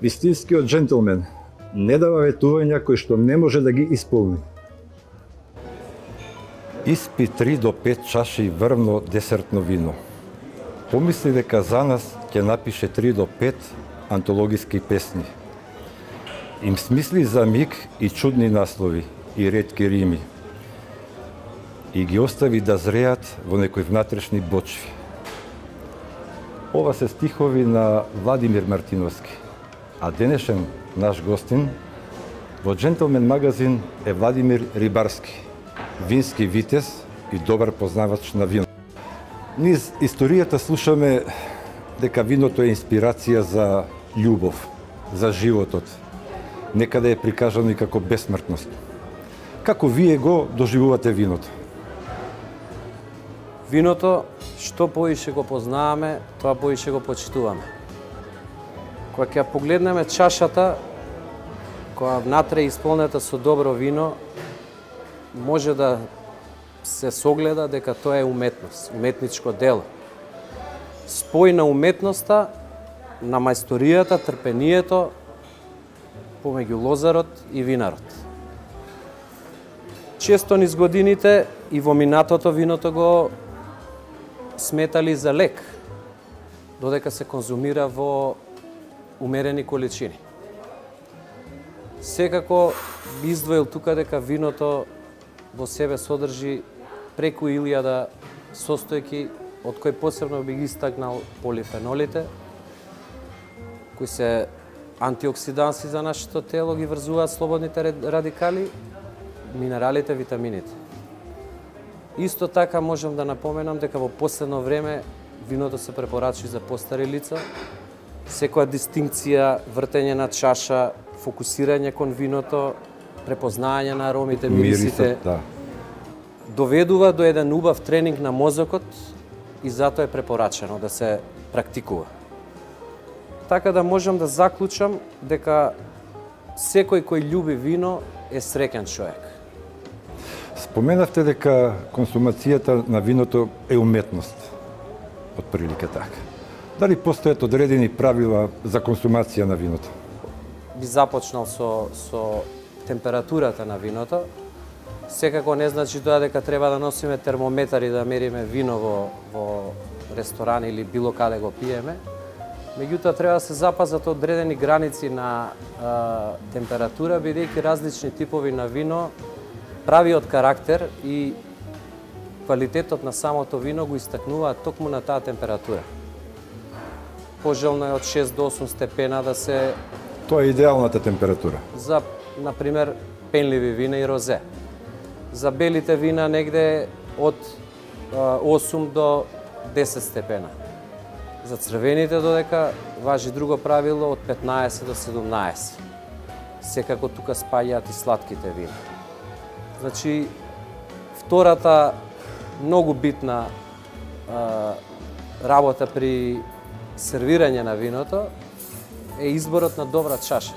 Вистинскиот джентлмен не дава ветувања кои што не може да ги исполни. Испи 3 до 5 чаши врвно десертно вино. Помисли дека за нас ќе напише 3 до 5 антологиски песни. Им смисли за миг и чудни наслови и ретки рими. И ги остави да зреат во некои внатрешни бочви. Ова се стихови на Владимир Мартиновски, а денешен наш гостин во Джентлмен магазин е Владимир Рибарски, вински витез и добар познавач на вино. Низ историјата слушаме дека виното е инспирација за љубов, за животот. Некаде е прикажано и како бесмртност. Како вие го доживувате виното? Виното, што поише го познаваме, тоа поише го почитуваме. Кога ќе погледнеме чашата, која внатре е исполнета со добро вино, може да се согледа дека тоа е уметност, уметничко дело. Спој на уметноста, на мајсторијата, трпението помеѓу лозарот и винарот. Често низ годините и во минатото виното го сметали за лек, додека се конзумира во умерени количини. Секако би издвоил тука дека виното во себе содржи преку 1000 состојки, од кои посебно би ги истакнал полифенолите, кои се антиоксиданси за нашето тело, ги врзуваат слободните радикали, минералите, витамините. Исто така можам да напоменам дека во последно време виното се препорачи за постари лица. Секоја дистинкција, вртење на чаша, фокусирање кон виното, препознање на аромите, мирисите, доведува до еден убав тренинг на мозокот и затоа е препорачено да се практикува. Така да можам да заклучам дека секој кој љуби вино е среќен човек. Споменавте дека консумацијата на виното е уметност, од прилика така. Дали постојат одредени правила за консумација на виното? Би започнал со температурата на виното. Секако не значи тоа дека треба да носиме термометар и да мериме вино во ресторан или било каде го пиеме. Меѓутоа треба да се запазат одредени граници на температура, бидејќи различни типови на вино правиот карактер и квалитетот на самото вино го истакнуваат токму на таа температура. Пожелно е од 6 до 8 степена да се... Тоа е идеалната температура. За, например, пенливи вина и розе. За белите вина негде од 8 до 10 степена. За црвените додека важи друго правило од 15 до 17. Секако тука спаѓаат и сладките вина. Значи, втората многу битна работа при сервирање на виното е изборот на добра чаша.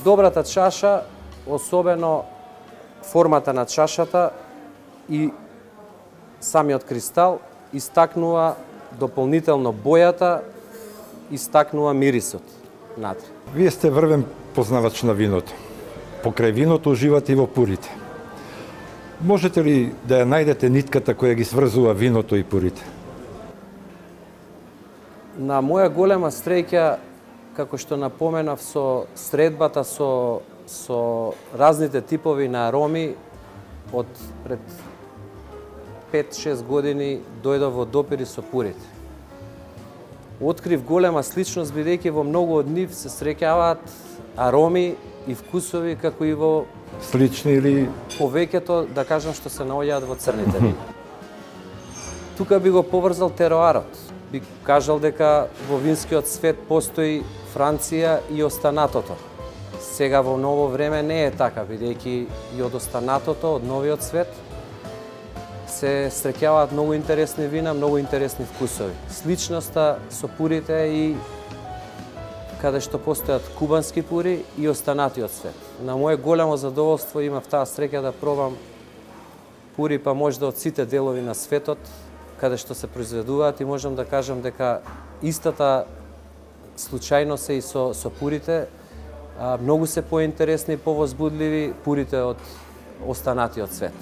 Добрата чаша, особено формата на чашата и самиот кристал, истакнува дополнително бојата, истакнува мирисот натре. Вие сте врвен познавач на виното. Покрај виното уживате и во пурите. Можете ли да ја најдете нитката која ги сврзува виното и пурите? На моја голема среќа, како што напоменав, со средбата со разните типови на ароми, од пред 5-6 години дојдов во допири со пурите. Открив голема сличност, бидејќи во многу од нив се среќаваат ароми и вкусови како и во слични или повеќето, да кажам, што се наоѓаат во црните вина. Тука би го поврзал тероарот. Би кажал дека во винскиот свет постои Франција и останатото. Сега во ново време не е така, бидејќи и од останатото, од новиот свет, се среќаваат многу интересни вина, многу интересни вкусови. Сличноста со пурите е и каде што постојат кубански пури и останатиот свет. На моје голямо задоволство имав таа среќа да пробам пури па можда од сите делови на светот, каде што се произведуваат, и можам да кажам дека истата случајно се и со пурите. Многу се поинтересни и повозбудливи пурите од останатиот свет.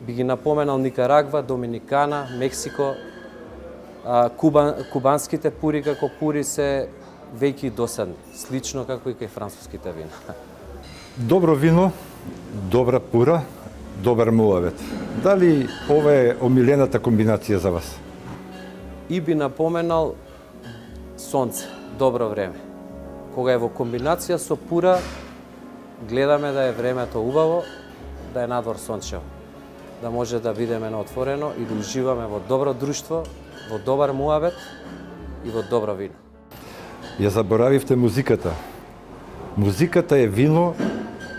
Би ги напоменал Никарагва, Доминикана, Мексико. Кубанските пури како пури се веќе досадни, слично како и кај француските вина. Добро вино, добра пура, добар муавет. Дали ова е омилената комбинација за вас? И би напоменал сонце, добро време. Кога е во комбинација со пура, гледаме да е времето убаво, да е надвор сончево, да може да бидеме на отворено и да уживаме во добро друштво, во добар муавет и во добро вино. Ја заборавивте музиката. Музиката е вино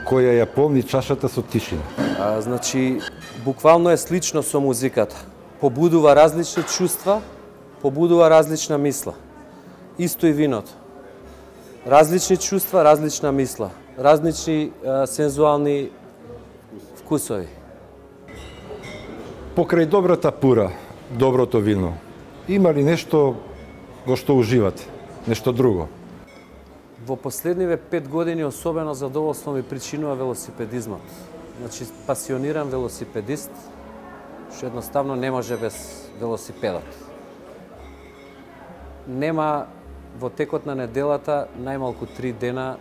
која ја полни чашата со тишина. Значи, буквално е слично со музиката. Побудува различни чувства, побудува различна мисла. Исто и виното. Различни чувства, различна мисла. Различни сензуални вкусови. Покрај добрата пура, доброто вино, има ли нешто во што уживате? Нешто друго? Во последниве 5 години особено задоволство ми причинува велосипедизмот. Значи, пасиониран велосипедист, што едноставно не може без велосипедот. Нема во текот на неделата најмалку 3 дена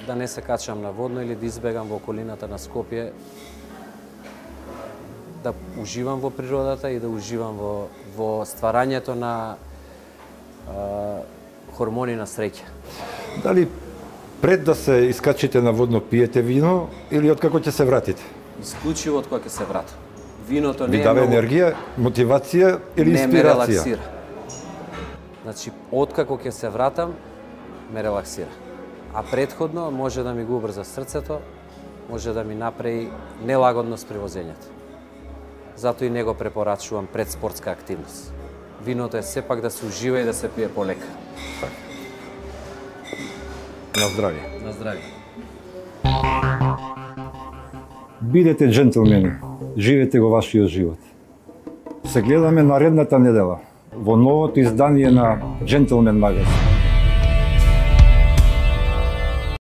да не се качам на водно или да избегам во околината на Скопје, да уживам во природата и да уживам во стварањето на хормони на среќа. Дали пред да се искачите на водно пиете вино или откако ќе се вратите? Исклучиво од кога ќе се вратам. Виното не Ви е дава многу... енергија, мотивација или не ме инспирација? релаксира. Значи, откако ќе се вратам, ме релаксира. А предходно може да ми го убрза срцето, може да ми направи нелагодност при возењето. Затоа и не го препорачувам пред спортска активност. Виното е сепак да се ужива и да се пие полека. На здравје. На здравје. Бидете джентлмени, живете го вашиот живот. Се гледаме наредната недела во новото издание на Джентлмен магазин.